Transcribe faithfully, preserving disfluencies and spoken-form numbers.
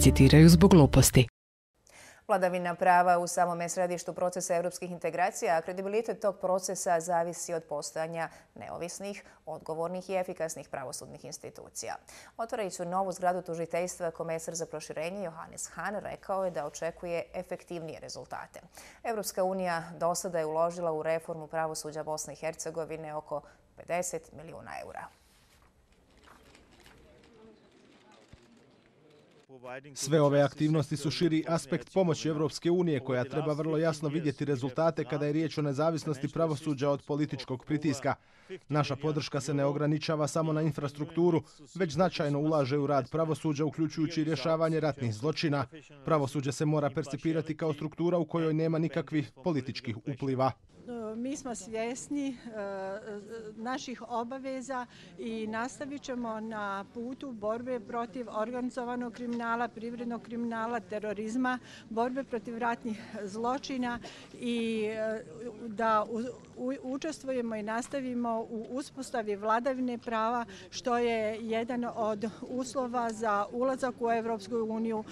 citiraju zbog gluposti. Vladavina prava u samome središtu procesa europskih integracija, a kredibilitet tog procesa zavisi od postojanja neovisnih, odgovornih i efikasnih pravosudnih institucija. Otvarajući novu zgradu tužiteljstva, komesar za proširenje Johannes Hahn rekao je da očekuje efektivnije rezultate. Europska unija do sada je uložila u reformu pravosuđa Bosne i Hercegovine oko pedeset milijuna eura. Sve ove aktivnosti su širi aspekt pomoći Europske unije koja treba vrlo jasno vidjeti rezultate kada je riječ o nezavisnosti pravosuđa od političkog pritiska. Naša podrška se ne ograničava samo na infrastrukturu, već značajno ulaže u rad pravosuđa, uključujući i rješavanje ratnih zločina. Pravosuđe se mora percipirati kao struktura u kojoj nema nikakvih političkih upliva. Mi smo svjesni naših obaveza i nastavit ćemo na putu borbe protiv organizovanog kriminala, privrednog kriminala, terorizma, borbe protiv ratnih zločina i da učestvujemo i nastavimo u uspostavi vladavine prava, što je jedan od uslova za ulazak u Europsku uniju.